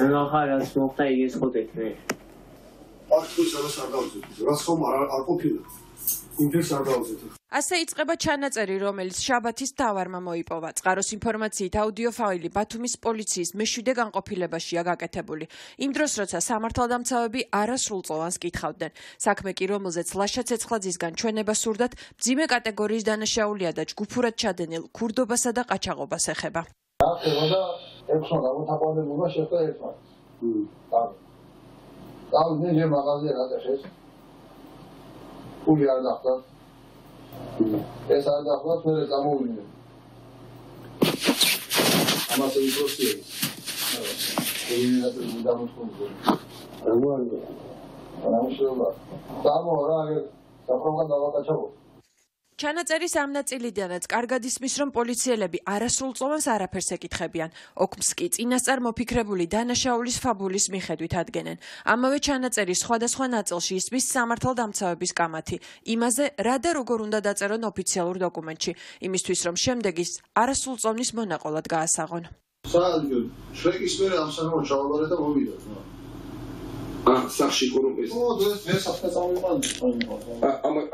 ნახარას მოხდა ის ხოდეთნე. აქ ის არ დავზეთ. რაც ხომ არ ყოფილა. ინტერეს არ დავზეთ. ასე იწყება ჩანაწერი, რომელიც შაბათის თავარმა მოიპოვა. წყაროს ინფორმაციით აუდიო ფაილი ბათუმის პოლიციის მეშვიდე განყოფილებაშია გაკეთებული. იმ დროს, როცა სამართალდამცავები არასრულწლოვანს კითხავდნენ. საქმე კი, რომელზეც ლაშა ცეცხლაძისგან ჩვენება სურდათ, მძიმე კატეგორიის დანაშაულია და ჯგუფურად ჩადენილ ქურდობასა და ყაჩაღობას ეხება. ახლა 6 გამოთაყვანებულმა შეხვდა ერთმა. მე მაღაზია გადაშეს. ფული არ დახტა. ეს არ დახტა, მე გამოვიდნენ. ამას უბრალოდ ეს დამოწმული. ჩანაწერის ამ ნაწილიდანაც კარგად ისმის, რომ პოლიციელები არასრულწლოვანს არაფერს ეკითხებიან. ოქმს კი წინასწარ მოფიქრებული დანაშაულის ფაბულის მიხედვით ადგენენ. ამავე ჩანაწერის სხვადასხვა ნაწილში ისმის სამართალდამცავების კამათი. იმაზე, რა და როგორ უნდა დაწერონ ოფიციალურ დოკუმენტში, იმისთვის, რომ შემდეგ ის არასრულწლოვნის მონაყოლად გაასაღონ. შრეკის მერე ამ სანამ ჩავაბარე და მოვიდა. სახში კორუმპეს. დღეს საფრთხე წამოვიყვანე.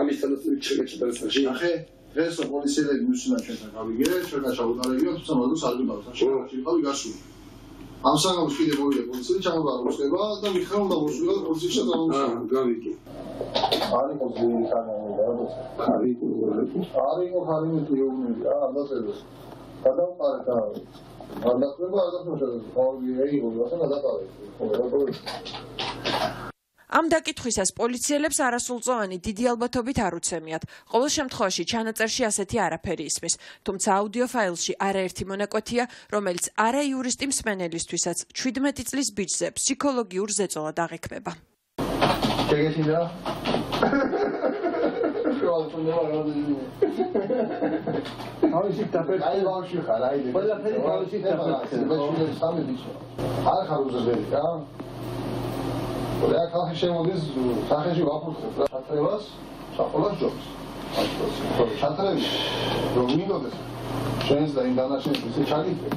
ამის თანაც შეგეჭდა სახში. ახე დღეს პოლიციელები მუსინა ჩვენთან გავიგე, ჩვენ ჩავუტარებია, თუმცა მაგას არ ვიმართ. შევარჩი ვიყავი გასული. ამ სანამ კიდე მოვიდა პოლიციელი, ჩავაბარა მოსდება და მითხრა უნდა მოსულიყო პოლიციაში და გავიგე. არის მოგული კანონი და არის მოგული ამბაზებს. გადავყარე და ამ დაკითხვისას პოლიციელებს არასრულწლოვანი დიდი ალბათობით არ უცემიათ. ყოველ შემთხვევაში ჩანაწერში ასეთი არაფერი ისმის. თუმცა აუდიო ფაილში არაერთი მონაკვეთია, რომელიც არა იურისტი მსმენელისთვისაც 17 წლის ბიჭზე ფსიქოლოგიურ ზეწოლად აღიქმება. შეგეჩინდა? თავისი დაფეთქება. აი ბავშვი ხარ, აი. ყველაფერი თავისი დაფეთქება. არ ხარ უზრდელი, რა? რა ხალხი შემოდის, სახეში ვაფუძნებ რა ჩატრევას, საფოლას ჯობს. ჩატრევი, რომ მინდოდეს. შენს და იმ დანაშაულის ისე ჩაგიწევ.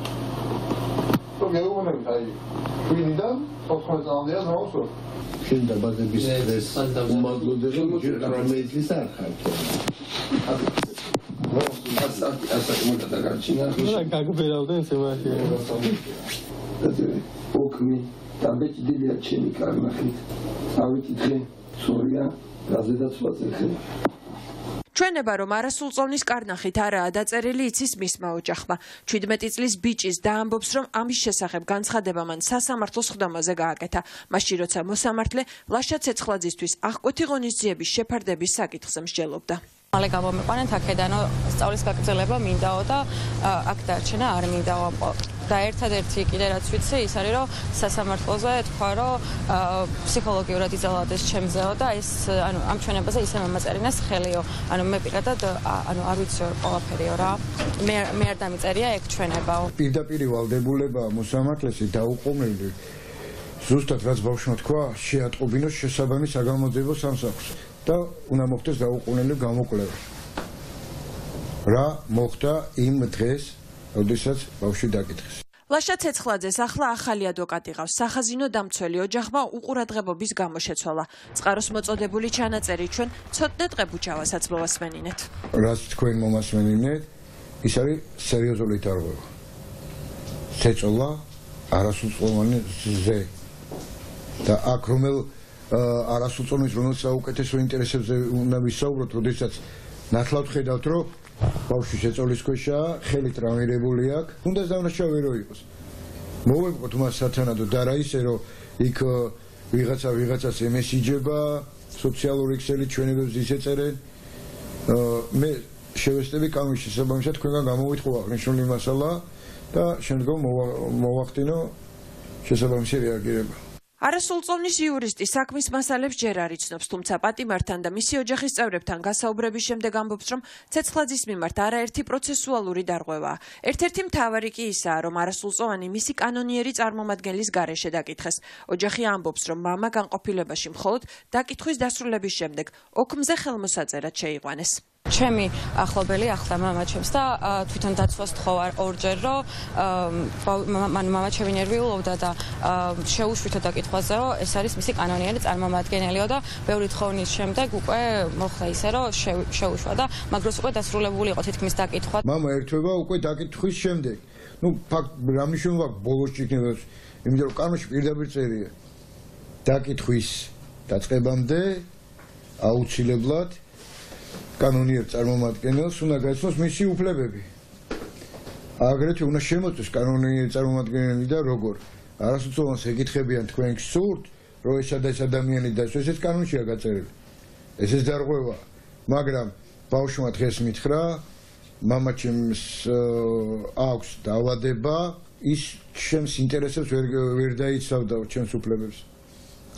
რო გეუბნებით, აი, ვინიდან 14 წლამდეა მოუსწრო. შენ დაბადების დღეს უმაგლოდ ჯერ გამეძლის არ ხარ. ასაკ მოგადაგარჩინა. რა გაგბერავდნენ შემაში. ოქმი დამბეჭდილია ჩემი კარნახით. ავიკითხე, სორია, გაზედაც ვაწეხე. ჩვენება, რომ არასრულწლოვნის კარნახით არაა დაწერილი, იცის მისმა ოჯახმა. 17 წლის ბიჭის დაამბობს, რომ ამის შესახებ განცხადება მან სასამართლოს ხდომაზე გააკეთა. მაშინ, როცა მოსამართლე ლაშა ცეცხლაძისთვის აღკვეთი ღონისძიების შეფარდების საკითხზე მსჯელობდა. მალე გამომიყვანეთ აქედანო სწავლის გაგრძელება მინდაო და აქ დარჩენა არ მინდაო. და ერთადერთი კიდე რაც ვიცი, ის არის, რომ სასამართლოზე თქვა, რომ ფსიქოლოგიურად იზოლავდეს ჩემზეო და ეს ამ ჩვენებაზე ისე მომაწერინეს ხელიო. მე პირადად არ ვიცი ყველაფერიო რა. მე არ დამიწერია ეგ ჩვენებაო. პირდაპირ ვალდებულება მოსამართლეში დაუყოვნელი ზუსტად რაც ბავშვმა თქვა, შეატყობინოს შესაბამი საგამოძიებო სამსახურს და უნდა მოხდეს დაუყოვნელი გამოკვლევა. რა მოხდა იმ დღეს, როდესაც ბავშვი დაკითხეს. ლაშა ცეცხლაძეს ახლა ახალი ადვოკატი ყავს. სახაზინო დამცველი ოჯახმა უყურადღებობის გამო შეცვალა. წყაროს მოწოდებული ჩანაწერი ჩვენ ცოტნე ტყებუჩავასაც მოვასმენინეთ. რაც თქვენ მომასმენინეთ, ის არის სერიოზული დარღვევა. შეცვალა არასრულწლოვანი ზე. და აქ რომელ არასრულწლოვანის რომელსაც საუკეთესო ინტერესებზე უნდა ვისაუბროთ, როდესაც ნათლად ხედავთ, რომ ბავშვი შეწოლის ქვეშაა, ხელით ტრავმირებული აქვს, უნდა დანაშაული რო იყოს. მოვეკოთ მას სათანადო და რა ისე, რომ იქ ვიღაცას ემესიჯება, სოციალური ქსელი ჩვენებებს ისეწერენ. მე შევესწრები კამის შესაბამისად თქვენგან გამოვიტყვა აღნიშნული მასალა და შემდგომ მოვახდინო შესაბამისი რეაგირება. არასრულწლოვნის იურისტი საქმის მასალებს ჯერ არ იცნობს, თუმცა პატიმართან და მისი ოჯახის წევრებთან გასაუბრების შემდეგ ამბობს, რომ ცეცხლაძის მიმართ არაერთი პროცესუალური დარღვევაა. ერთ-ერთი მთავარი კი ისაა, რომ არასრულწლოვანი მისი კანონიერი წარმომადგენლის გარეშე დაკითხეს. ოჯახი ამბობს, რომ მამა განყოფილებაში მხოლოდ დაკითხვის დასრულების შემდეგ ოქმზე ხელმოსაწერად შეიყვანეს. ჩემი ახლობელი ახლა მამაჩემს და თვითონ დაცვას თხოვარ ორჯერ, რომ მამაჩემი ნერვიულობდა და შეუშვითო დაკითხვაზე, რომ ეს არის მისი კანონიერი წარმომადგენელიო და ბევრი თხოვნის შემდეგ უკვე მოხდა ისე, რომ შეუშვა და მაგროს უკვე დასრულებული იყო თითქმის დაკითხვა. მამა ერთვება უკვე დაკითხვის შემდეგ. ფაქტ რა მნიშვნელობა აქვს ბოლოსში იქნება, იმიტომ რომ კანონში პირდაპირ წერია. დაკითხვის დაწყებამდე აუცილებლად კანონიერ წარმომადგენელს უნდა გაიცნოს მისი უფლებები. აგრეთვე უნდა შემოწმოს კანონიერი წარმომადგენელი და როგორ არასრულწლოვანს ეკითხებიან თქვენ გსურთ, რომ ეს ადამიანი დასვეს, ეს კანონშია გაწერილი. ესეც დარღვევა, მაგრამ ბავშვმა დღეს მითხრა, მამაჩემს აქვს დაავადება, ის ჩემს ინტერესებს ვერ დაიცავდა ჩემს უფლებებს.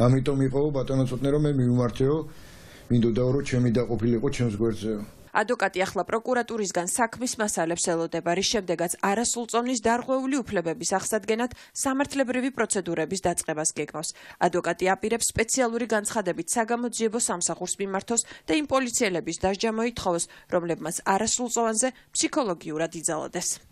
ამიტომ იყო ბატონო ცოტნე რომ მე მივმართეო, მინდოდა რომ ჩემი დაყოფილიყო ჩემს გვერდზეო. ადვოკატი ახლა პროკურატურისგან საქმის მასალებს ელოდება, რის შემდეგაც არასრულწლოვნის დარღვეული უფლებების აღსადგენად სამართლებრივი პროცედურების დაწყებას გეგმავს. ადვოკატი აპირებს სპეციალური განცხადებით საგამოძიებო სამსახურს მიმართოს და იმ პოლიციელების დასჯა მოითხოვოს, რომლებმაც არასრულწლოვანზე ფსიქოლოგიურად იძალოდეს.